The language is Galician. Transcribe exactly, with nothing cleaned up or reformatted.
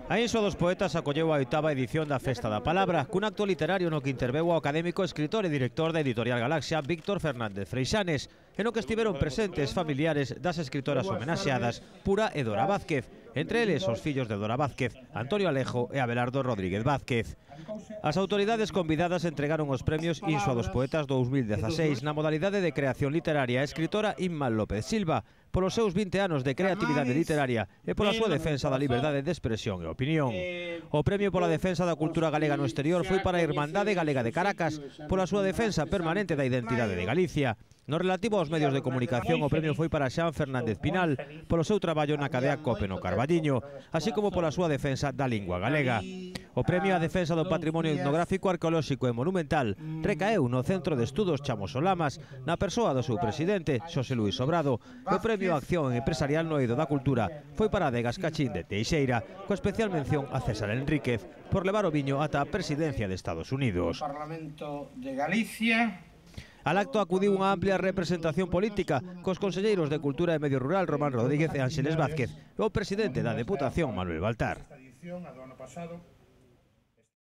A Inso dos Poetas acolleu a oitava edición da Festa da Palabra, cun acto literario no que interveu o académico, escritor e director da Editorial Galaxia, Víctor Fernández Freixanes, e no que estiveron presentes familiares das escritoras homenaxeadas, Pura e Dora Vázquez, entre eles os fillos de Dora Vázquez, Antonio Alejo e Abelardo Rodríguez Vázquez. As autoridades convidadas entregaron os premios Inso dos Poetas dous mil dezaseis na modalidade de creación literaria a escritora Inma López Silva, polos seus vinte anos de creatividade literaria e pola súa defensa da liberdade de expresión e opinión. O premio pola defensa da cultura galega no exterior foi para a Irmandade Galega de Caracas, pola súa defensa permanente da identidade de Galicia. No relativo aos medios de comunicación, o premio foi para Xan Fernández Pinal, polo seu traballo na cadea COPE no Carballiño, así como pola súa defensa da lingua galega. O premio á defensa do patrimonio etnográfico, arqueolóxico e monumental recaeu no Centro de Estudos Chamosolamas, na persoa do seu presidente, Xosé Luís Sobrado, e o premio á acción empresarial no eido da cultura foi para Adegas Cachín de Teixeira, coa especial mención a César Enríquez, por levar o viño ata a presidencia de Estados Unidos. Parlamento de Galicia. Al acto acudiu unha amplia representación política cos conselleiros de Cultura e Medio Rural Román Rodríguez e Ánxeles Vázquez e o presidente da Deputación Manuel Baltar.